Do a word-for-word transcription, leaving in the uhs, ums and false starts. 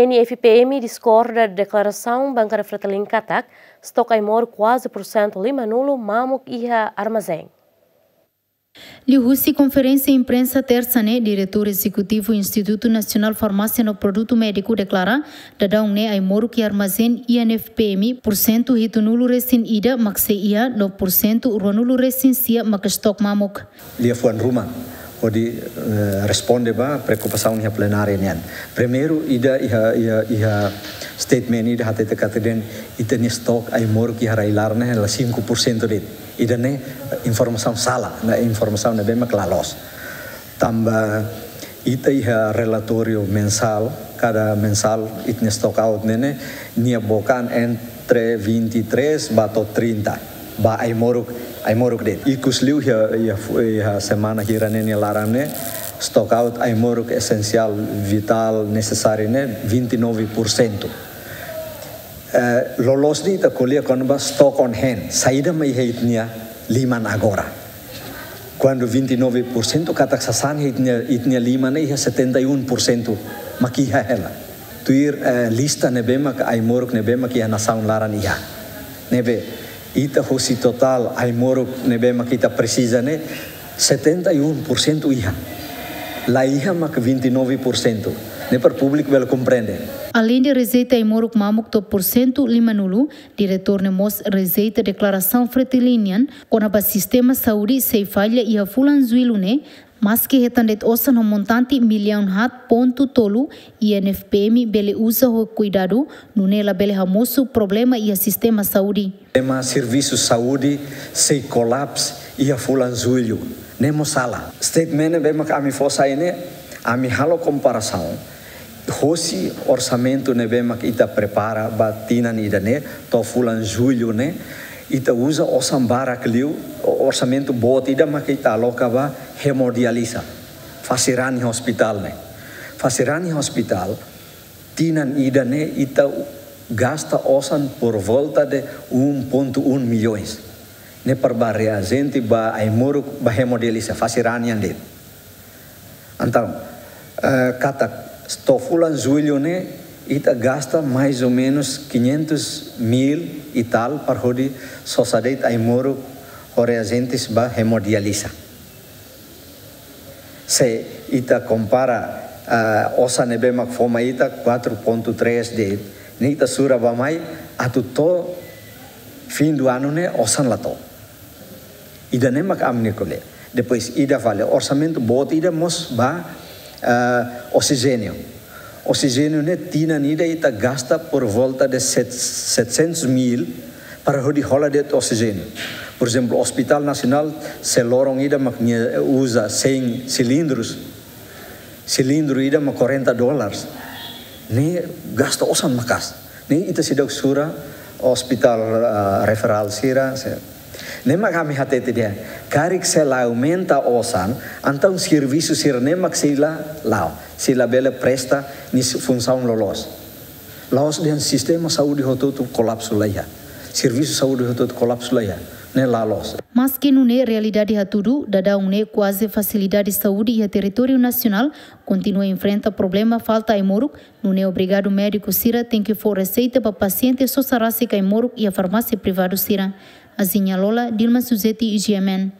N F P M diskorda deklarasaun Bankada Fretilin katak stok ai-moruk kuaze pursentu lima-nulu mamuk iha armazén. Liuhusi konferénsia imprensa tersa ne'e, Diretór Ezekutivu Institutu Nasionál Farmásia no Produtu Médiku deklara, daudaun ne'e ai-moruk iha armazén N F P M pursentu hitunulu-resin-ida mak sei iha, no pursentu ruanulu-resin-sia mak stok mamuk. Liafuan ruma hodi, eh, responde ba preokupasaun iha plenária nian. Primeiru, ida iha, iha, iha statement ida hatete katak dehan ita-nia stok ai-moruk iha rai-laran ne'e hela cinco por cento de'it. Ida-ne'e informasaun sala, ne'e informasaun ne'ebé mak la loos. Tanba ita iha relatóriu mensál, kada mensál ita-nia stock out ne'e, ne'e nia bokan entre vinte e três ba to'o trinta, ba ai-moruk, ai-moruk de'it. Ikus liu iha, iha, iha semana hira ne'e nia laran ne'e, stock out ai-moruk esensiál, vitál, nesesáriu ne'e vinte e nove por cento. Eh, loloos de'it ita ko'alia kona-ba stock on hand, saida mak iha ita-nia liman agora. Kuandu vinte e nove por cento katak sasán iha ita-nia, ita-nia liman ne'e iha setenta e um por cento mak iha hela. Tuir, eh, lista ne'ebé mak ai-moruk ne'ebé mak iha nasaun laran iha. Ne'ebé ita hosi totál ai-moruk ne'ebé mak ita presiza ne'e setenta e um por cento iha. La iha mak vinte e nove por cento. Ne'e para públiku bele komprende. Aleinde rejeita ai-moruk mamuk to'o pursentu lima-nulu, diretór ne'e mós rejeita deklarasaun Fretilin nian kona-ba sistema saúde sei falla iha fulan Jullu ne'e, maski hetan de'it osan ho montante millaun haat pontu tolu, N F P M bele uza ho kuidadu, nune'e labele hamosu problema iha sistema saúde. Sistema servisu saúde sei kolapsu iha fulan Jullu. Ne'e mós sala. Statement ne'ebé mak ami fó sai ne'e, ami halo komparasaun hosi orsamentu ne'ebé mak ita prepara ba tinan ida-ne'e, to'o fulan Jullu ne'e, ita uza osan barak liu, o-, orsamentu boot ida mak ita aloka ba hemodiálise. Fase rani hospitál ne'e. Fase rani hospitál, tinan ida-ne'e ita gasta osan por volta de um ponto um milhões. Ne'e para ba reajente, ba ai-moruk, ba hemodiálise, fase rani nian de'it. Entaun, eh, katak to'o fulan Jullu ne'e, ita gasta mais ou menos quinhentos mil e tal para hodi sosa de'it ai-moruk ho reajentes ba hemodiálise. Se ita kompara, ah, osan ne'ebé mak fó mai ita quatro ponto três de'it, ne'e ita sura ba mai atu to'o fim do ano ne'e osan la to'o. Ida-ne'e mak ami-nia ko'alia. Depois ida fali orsamentu boot ida mós ba, ah, oksijéniu. Oksijéniu ne'e tinan ida ita gasta por volta de set-, setecentos mil para hodi hola de'it oksijéniu. Por ezemplu, Hospital Nasionál sei loron ida mak nia uza cem cilindros. Cilindru ida mak quarenta dólares. Ne'e gasta osan maka'as. Ne'e ita seidauk sura hospital, ah, referál sira, se. Ne'e mak ami hatete dehan, karik sei la aumenta osan, entaun servisu sira-ne'e mak sei la la'o, sei labele presta nia funsaun loloos. La'ós dehan sistema saúde hotu-hotu kolapsu, la iha. Servisu saúde hotu-hotu kolapsu, la iha. Ne'e la loos. Maski nune'e realidade hatudu, daudaun ne'e kuaze fasilidade saúde iha territóriu nasionál kontinua enfrenta problema falta ai-moruk, nune'e obrigadu médiku sira tenke fó reseita ba pasiente sosa rasik ai-moruk iha farmásia privadu sira. Aziña Lola, Dilma Suzeti, G M N.